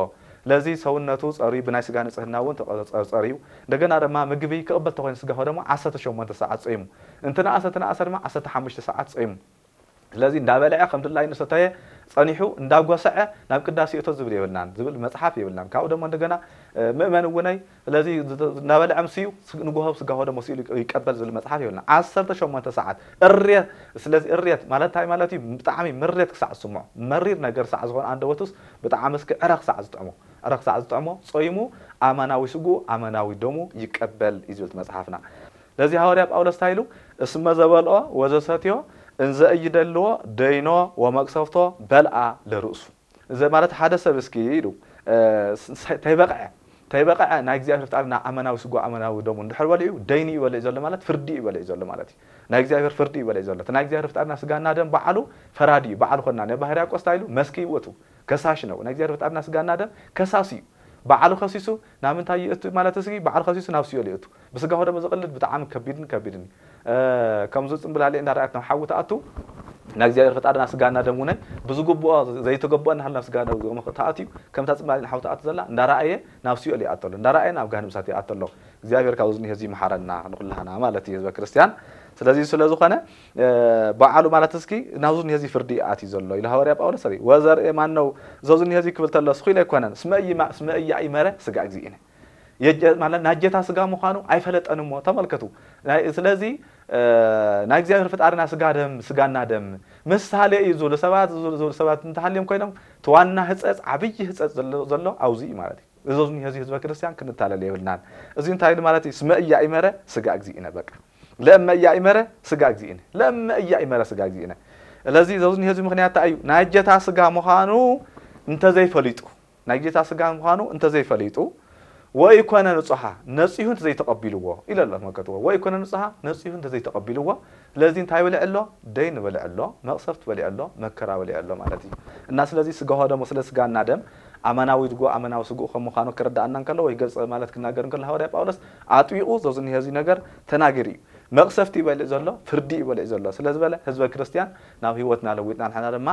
ስለዚ ሰውነቱ ጸርዩ ብናይ ስጋ ንጽህና እውን ተቐ- ጸርዩ። እንደገና ድማ ምግቢ ክቕበል ተኾይኑ ስጋ ሆ ደሞ ዓሰርተ ሸሞንተ ሰዓት ጾይሙ። እንተ ነኣሰ ተነኣሰ ድማ ዓሰርተ ሓሙሽተ ሰዓት ጾይሙ። ስለዚ እንዳበልዐ ከም ድላዩ ንሰተየ ጸኒሑ እንዳጎሰዐ ናብ ቅዳሴ እቶ ዝብል የብልናን ዝብል መጽሓፍ የብልናን። ካብኡ ደሞ እንደገና ምእመን እውነይ ስለዚ እናበልዐ ምስዩ ንጎሆ ስጋሆ ደሞ ስኢሉ ይቀበል ዝብል መጽሓፍ የብልና። ዓሰርተ ሸሞንተ ሰዓት እርየት። ስለዚ እርየት ማለት እንታይ ማለት እዩ? ብጣዕሚ ምሬት ክሳዕ ዝስምዖ፣ መሪር ነገር ሳዕ ዝኾነ ኣንደበቱስ ብጣዕሚ እስኪ ዕረ ክሳዕ ዝጥዕሞ፣ ዕረ ክሳዕ ዝጥዕሞ ጾይሙ ኣማናዊ ስግኡ ኣማናዊ ደሙ ይቀበል እዩ ዝብል መጽሓፍና። ስለዚ ሃዋርያ ጳውሎስ እንታይ ኢሉ? እስመ ዘበልኦ ወዘሰትዮ እንዘ እይደልዎ ደይኖ ወመቅሰፍቶ በልኣ ለርእሱ። እዚ ማለት ሓደ ሰብ እስኪ ኢሉ ተይበቕዐ ተይበቕዐ ናይ እግዚኣብሔር ፍጣርና ኣመናዊ ስጎ ኣመናዊ ደሙ እንድሕር በሊዑ ደይኒ እዩ በሊዑ ዘሎ ማለት ፍርዲ እዩ በሊዑ ዘሎ ማለት እዩ። ናይ እግዚኣብሔር ፍርዲ እዩ በሊዑ ዘሎ። እቲ ናይ እግዚኣብሔር ፍጣርና ስጋና ደም በዓሉ ፈራዲ እዩ። በዓሉ ኮና ናይ ባህርያቆስ እንታይ ኢሉ መስኪ ይወቱ ከሳሽ ነው። ናይ እግዚኣብሔር ፍጣርና ስጋና ደም ከሳሲ እዩ። በዓሉ ከሲሱ ናብ ምንታይ ይእቱ ማለት እስኪ በዓሉ ከሲሱ ናብ ሲኦል ይእቱ። ብስጋ ደም ዝቕልድ ብጣዕሚ ከቢድን ከቢድን እዩ። ከምዚ ጽምብላሊዕ እንዳረኣየት ናብ ሓዊ ትኣቱ ናይ እግዚኣብሔር ፈጣርና ስጋና ደም ውነ ብዝግብኦ ዘይተገብኦ እናሃልና ስጋ ደም ተኣትዩ ከምታ ጽምብላሊዕ ናብ ሓዊ ትኣቱ ዘላ እንዳረኣየ ናብ ሲኦል ይኣተሎ እንዳረኣየ ናብ ገሃነም እሳት ይኣተሎ። እግዚኣብሔር ካብዚ ዝኒሀ እዚ ይምሓረና ንኩላህና ማለት እዩ ህዝበ ክርስቲያን። ስለዚ ስለ ዝኾነ በዓሉ ማለት እስኪ ናብዚ ዝኒሀ እዚ ፍርዲ ኣትዩ ዘሎ ኢሉ ሃዋርያ ጳውሎስ ሰሪ ወዘርኢ ማን ነው? እዞ ዝኒሀ እዚ ክብል ተሎ ስኺሉ ኣይኮነን። ስመ እይማ- ስመ እያእመረ ስጋ እግዚእነ የጀ- ማለት ናይ ጌታ ስጋ ምዃኑ ኣይፈለጠን እሞ ተመልከቱ። ናይ- ስለዚ ናይ እግዚኣብሔር ፈጣርና ስጋ ደም ስጋና ደም ምሳሌ እዩ ዝብሉ ሰባት ዝብሉ ዝብሉ ሰባት እንተሃልዮም ኮይኖም እቲ ዋና ህፀፅ ዓብዪ ህፀፅ ዘሎ ዘሎ ኣብዚ እዩ ማለት እዩ። እዚ እዚ ህዝበ ክርስቲያን ክንታለል የብልናን። እዚ እንታይ ኢሉ ማለት እዩ? ስመ እያእመረ ስጋ እግዚእነ በቃ ለእመ እያእመረ ስጋ እግዚእነ ለእመ እያእመረ ስጋ እግዚእነ። ስለዚ እዚ ህዝቢ ምክንያት እንታይ እዩ? ናይ ጌታ ስጋ ምዃኑ እንተዘይፈሊጡ ናይ ጌታ ስጋ ምዃኑ እንተዘይፈሊጡ ወኢኮነ ንጹሃ ነጺሁ እንተዘይተቐቢልዎ ኢለ ኣሎ ተመልከትዎ። ወኢኮነ ንጹሃ ነጺሁ እንተዘይተቐቢልዎ ስለዚ እንታይ በልዕ ኣሎ? ደይን በልዕ ኣሎ፣ መቕሰፍቲ በልዕ ኣሎ፣ መከራ በልዕ ኣሎ ማለት እዩ። እና ስለዚ ስጋሆ ደሞ ስለ ስጋና ደም ኣማናዊ ድጎ ኣማናዊ ስግኡ ከም ምዃኑ ክርዳኣና እንከሎ ወይ ገጽ ማለት ክናገር እንከሎ ሃዋርያ ጳውሎስ ኣጥቢቑ ዘዝኒሀ እዚ ነገር ተናጊሩ እዩ። መቕሰፍቲ ይበልዕ ዘሎ፣ ፍርዲ ይበልዕ ዘሎ ስለ ዝበለ ህዝበ ክርስቲያን ናብ ህይወትና ለዊጥና ንሕና ድማ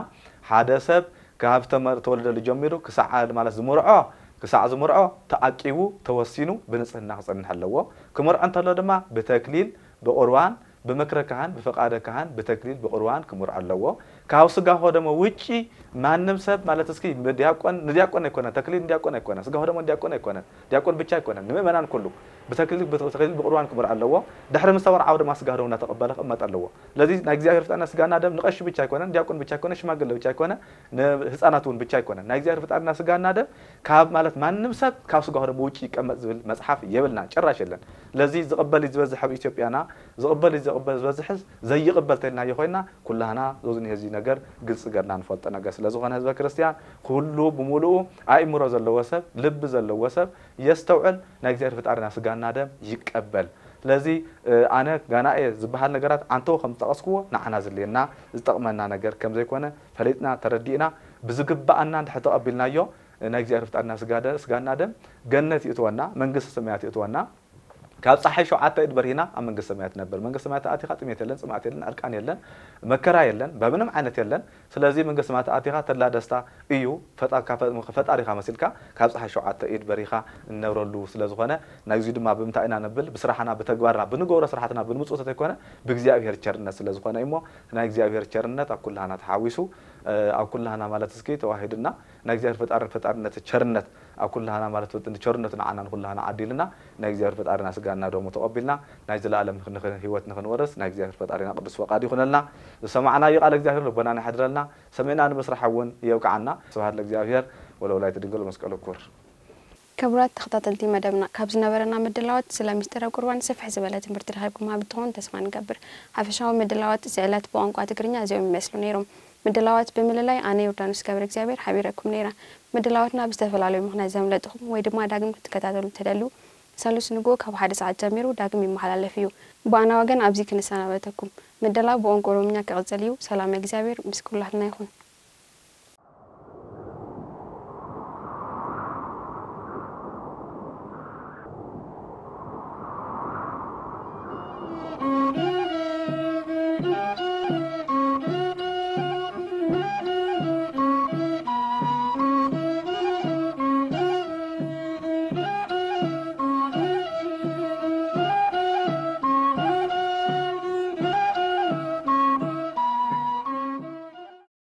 ሓደ ሰብ ካብ ተመ- ተወልደሉ ጀሚሩ ክሳዕ ማለት ዝምርዖ ክሳዕ ዝምርዖ ተኣቂቡ ተወሲኑ ብንጽህና ክጸንሕ ኣለዎ። ክምርዖ እንተሎ ድማ ብተክሊል ብቁርባን ብምክረ ካህን ብፈቃደ ካህን ብተክሊል ብቁርባን ክምርዖ ኣለዎ። ካብ ስጋ ሆደሞ ውጪ ማንም ሰብ ማለት እስኪ ዲያቆን ንዲያቆን ኣይኮነ ተክሊል ንዲያቆን ኣይኮነ ስጋ ሆደሞ ንዲያቆን ኣይኮነ ዲያቆን ብቻ ኣይኮነ ንምእመናን ኩሉ ብተክሊል ብተክሊል ብቁርባን ክምርዖ ኣለዎ። ድሕሪ ምስ ተመርዓወ ድማ ስጋ ሆደሞ እናተቀበለ ክቕመጥ ኣለዎ። ስለዚ ናይ እግዚኣብሔር ፍጣርና ስጋና ደም ንቀሺ ብቻ ኣይኮነን ዲያቆን ብቻ ኣይኮነ ሽማግለ ብቻ ኣይኮነ ንህፃናት እውን ብቻ ኣይኮነን። ናይ እግዚኣብሔር ፍጣርና ስጋና ደም ካብ ማለት ማንም ሰብ ካብ ስጋ ሆደሞ ውጪ ይቀመጥ ዝብል መፅሓፍ የብልና ጭራሽ የለን። ስለዚ ዝቕበል እዩ ዝበዝሕ ኣብ ኢትዮጵያና ዝቕበል እዩ ዝቕበል ዝበዝሕስ ዘይቕበል ተልናዮ ኮይና ኩላህና ዞዝኒ ህዚ ነገር ግልፂ ገርና ንፈልጦ ነገር ስለ ዝኾነ ህዝበ ክርስቲያን ኩሉ ብምሉኡ ኣእምሮ ዘለዎ ሰብ ልቢ ዘለዎ ሰብ የስተውዕል። ናይ እግዚኣብሔር ፍጣርና ስጋና ደም ይቀበል። ስለዚ ኣነ ጋና እየ ዝበሃል ነገራት ዓንተው ከም ዝጠቐስክዎ ንዓና ዝልየና ዝጠቕመና ነገር ከም ዘይኮነ ፈሊጥና ተረዲእና ብዝግባኣና እንድሕር ተቐቢልናዮ ናይ እግዚኣብሔር ፍጣርና ስጋደ- ስጋና ደም ገነት ይእትወና መንግስቲ ሰማያት ይእትወና። ካብ ፀሓይ ሸውዓተ ኢድ በርሂና ኣብ መንግስቲ ሰማያት ነበር። መንግስቲ ሰማያት ኣቲኻ ጥሜት የለን፣ ፅምኣት የለን፣ ዕርቃን የለን፣ መከራ የለን፣ በምንም ዓይነት የለን። ስለዚ መንግስቲ ሰማያት ኣቲኻ ተድላ ደስታ እዩ። ፈጣ- ካብ ፈ- ፈጣሪኻ መሲልካ ካብ ፀሓይ ሸውዓተ ኢድ በሪኻ እንነብረሉ ስለ ዝኾነ ናይዚ ድማ ብምንታይ ኢና ነብል ብስራሕና ብተግባርና ብንገብሮ ስራሕትና ብንምፅኡ ተተይኮነ ብእግዚኣብሔር ቸርነት ስለ ዝኾነ እሞ ናይ እግዚኣብሔር ቸርነት ኣብ ኩላህና ተሓዊሱ ኣብ ኩላህና ማለት እስኪ ተዋሂድና ናይ እግዚኣብሔር ፈጣርን ፈጣርነት ቸርነት ኣብ ኩላህና ማለት ወጥን ቸርነቱ ንዓና ንኩላህና ዓዲልና ናይ እግዚኣብሔር ፈጣሪና ስጋና ደሙ ተቐቢልና ናይ ዘላለም ንኽ- ንኽ- ህይወት ንኽንወርስ ናይ እግዚኣብሔር ፈጣሪና ቅዱስ ፈቃድ ይኹነልና። ዝሰማዕናዮ ቃል እግዚኣብሔር ልቦናና ይሓድረልና። ሰሚዕና ንምስራሕ እውን የብቅዓና። ስብሐት ለእግዚኣብሔር ወለወላዲቱ ድንግል ወመስቀሉ ክቡር። ክቡራት ተኸታተልቲ መደብና ካብ ዝነበረና ምድላዋት ስለ ምስጢረ ቁርባን ስፍሕ ዝበለ ትምህርቲ ረኺብኩም ሃብ ትኾን ተስፋ ንገብር። ሓፈሻዊ ምድላዋት እዚ ዕለት ብቋንቋ ትግርኛ እዚኦም ይመስሉ ነይሮም። ምድላዋት ብምልላይ ኣነ ዮርዳኖስ ገብረ እግዚኣብሔር ሓቢረኩም ነይረ። ምድላዋትና ብዝተፈላለዩ ምኽንያት ዘምለጥኹም ወይ ድማ ዳግም ክትከታተሉ እትደልዩ፣ ሰሉስ ንግሆ ካብ ሓደ ሰዓት ጀሚሩ ዳግም ይመሓላለፍ እዩ። ብኣና ወገን ኣብዚ ክንሰናበተኩም። ምድላው ብቋንቋ ኦሮምኛ ክቕጽል እዩ። ሰላም እግዚኣብሔር ምስ ኩላትና ይኹን።